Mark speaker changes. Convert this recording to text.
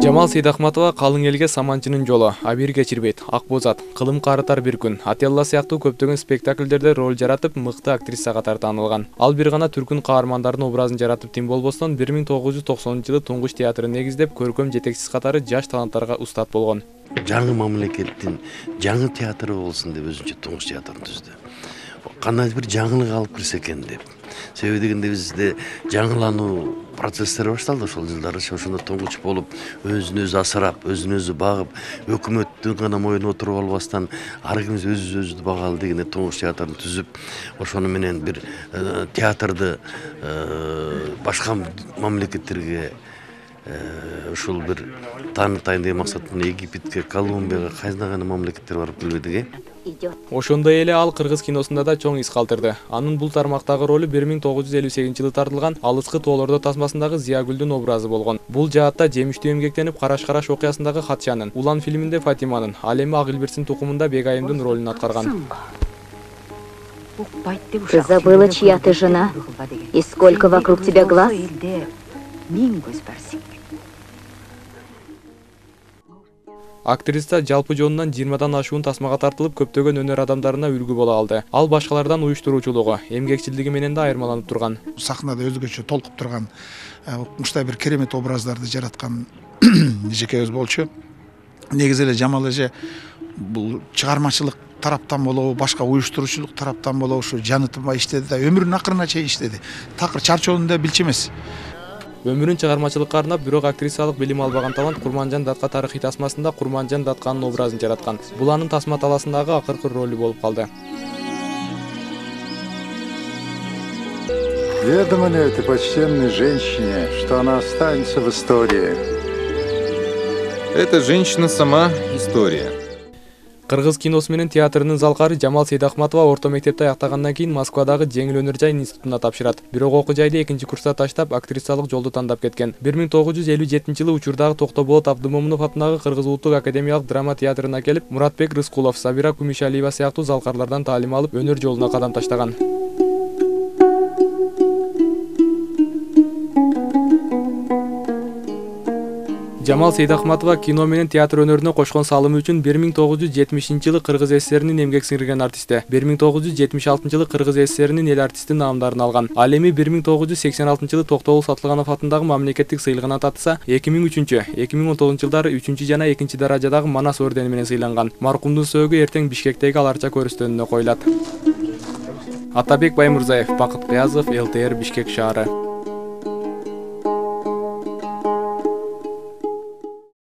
Speaker 1: Жамал Сейдахматова калың элге Саманчынын жолу, Абир кечирбейт, Ак Бозат, Кылым карытар бир күн, Ателла сыяктуу көптөгөн спектакльдерде роль жаратып, мыкты актриса катары таанылган. Ал бир гана түркүн каармандардын образын жаратып тим болбостон 1990-жылы Туңгуч театрын негиздеп, көркөм жетекчиси катары жаш таланттарга устат болгон.
Speaker 2: Жаңы мамлекеттин жаңы театры болсун деп өзүнчө Туңгуч театрын түздү. Кандай бир жаңылык алып кирсе экен деп. Себеби дегенде бизде жаңылануу процесстери башталды ошол жылдары. Ошондо Туңгуч болуп, өзүн өзү асырап, өзүн өзү багып, өкмөттүн гана моюнуна отуруп албастан, ар кимибиз өзүбүздү багалы дегенде Туңгуч театрын түзүп, ошону менен бир театрды башка мамлекеттерге ушул бир таанытайын деген максат менен Египетке, Колумбияга, кайсына мамлекеттер барып келбедик.
Speaker 1: Ошондой эле ал кыргыз киносунда да чоң из калтырды. Анын бул тармактагы ролу 1958-жылы тартылган Алыскы тоолордо тасмасындагы Зиягүлдүн образы болгон. Бул жаатта жемиштүү эмгектенип Караш-караш окуясындагы Хатчанын, Улан фильминде Фатиманын, ал эми Агилбирстин тукумунда Бегайымдын ролун аткарган.
Speaker 3: Ты забыла, чья ты жена? И сколько вокруг тебя глаз?
Speaker 1: Актриса жалпы жонунан 20дан ашуун тасмага тартылып, көптөгөн өнөр адамдарына үлгү боло алды. Ал башкалардан уюштуруучулугу, эмгекчилдиги менен да айырмаланып турган.
Speaker 4: Сахнада өзгөчө толкуп турган, ушундай бир керемет образдарды жараткан жекебиз болчу. Негизи эле Жамал эже бул чыгармачылык тараптан болобу, башка уюштуруучулук тараптан болобу ушу жаны тынбай иштеди да, өмүрүнүн акырына чейин иштеди. Такыр чарчоону да билчү эмес.
Speaker 1: Өмүрүн чыгармачылыкка арнап, бирок актрисалык билим албаган талант Курманжан Датка тарыхый тасмасында Курманжан Датканын образын жараткан. Бул анын тасма таласындагы акыркы ролу болуп калды.
Speaker 5: Ведомо ли этой почтенной женщине, что она останется в истории?
Speaker 6: Эта женщина сама история.
Speaker 1: Кыргыз киносу менен театрынын залкары Жамал Сейдахматова орто мектепти аяктагандан кийин Москвадагы Жеңил өнөр жай институтуна тапшырат. Бирок окуу жайды экинчи курста таштап, актрисалык жолду тандап кеткен. 1957-жылы учурдагы Токтоболот Абдымомунов атындагы Кыргыз улуттук академиялык драма театрына келип, Муратбек Рыскулов, Сабира Кумишалиева сыяктуу залкарлардан таалим алып, өнөр жолуна кадам таштаган. Жамал Сейдахматова кино менен театр өнөрүнө кошкон салымы үчүн 1970-жылы Кыргыз ССРинин эмгек сиңирген артисти, 1976-жылы Кыргыз ССРинин эл артисти наамдарын алган. Ал эми 1986-жылы Токтогул Сатылганов атындагы мамлекеттик сыйлыгына татса, 2003-2019 жылдары 3 жана 2 даражадагы Манас ордени менен сыйланган. Маркумдун сөөгү эртең Бишкектеги Аларча көрүстөнүнө коюлат. Атабек Баймурзаев, Бакыт Кыязов, ЛТР Бишкек шаары.